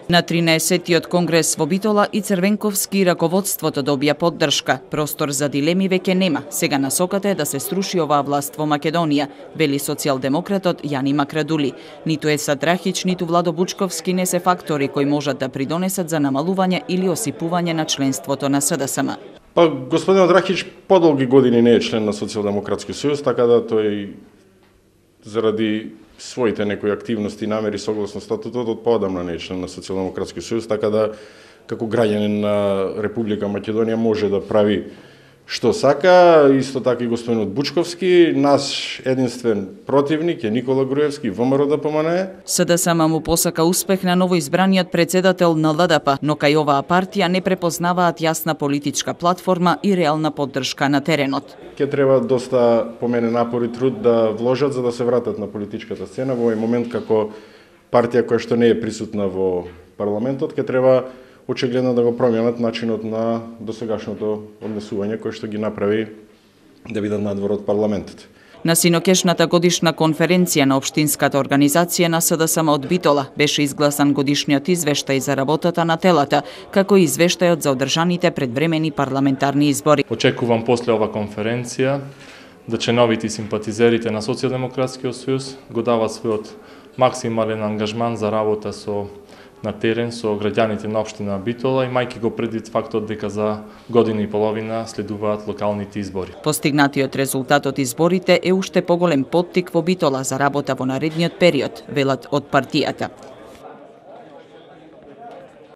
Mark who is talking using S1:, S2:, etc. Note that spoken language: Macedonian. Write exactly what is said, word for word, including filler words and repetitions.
S1: На тринаесеттиот конгрес во Битола и Црвенковски раководството добија поддршка. Простор за дилеми веќе нема. Сега насоката е да се струши оваа власт во Македонија, вели социјалдемократот Јани Макрадули. Ниту Еса Драхич, ниту Владо Бучковски не се фактори кои можат да придонесат за намалување или осипување на членството на СДСМ.
S2: Па, господинот Драхич подолги години не е член на Социјалдемократски сојуз, така да тој заради своите некои активности и намери согласно статутот од поодамна не е член на Социјалдемократски сојуз, така да како граѓанин на Република Македонија може да прави што сака. Исто така и господинот Бучковски, наш единствен противник е Никола Груевски, ВМРО да помане.
S1: СДСМ му посака успех на новоизбраниот председател на ЛДП, но кај оваа партија не препознаваат јасна политичка платформа и реална поддршка на теренот.
S2: Ке треба доста по мене напор и труд да вложат за да се вратат на политичката сцена во овој момент како партија која што не е присутна во парламентот, ке треба очигледно да го променат начинот на досегашното однесување кој што ги направи да бидат надвор од парламентот.
S1: На синокешната годишна конференција на Општинската организација на СДСМ од Битола беше изгласан годишниот извештај за работата на телата, како и извештајот за одржаните предвремени парламентарни избори.
S3: Очекувам после ова конференција да членовите и симпатизерите на Социјалдемократскиот сојуз го дават својот максимален ангажман за работа со на терен со граѓаните на општина Битола, имајќи го предвид фактот дека за година и половина следуваат локалните избори.
S1: Постигнатиот резултат од изборите е уште поголем поттик во Битола за работа во наредниот период, велат од партијата.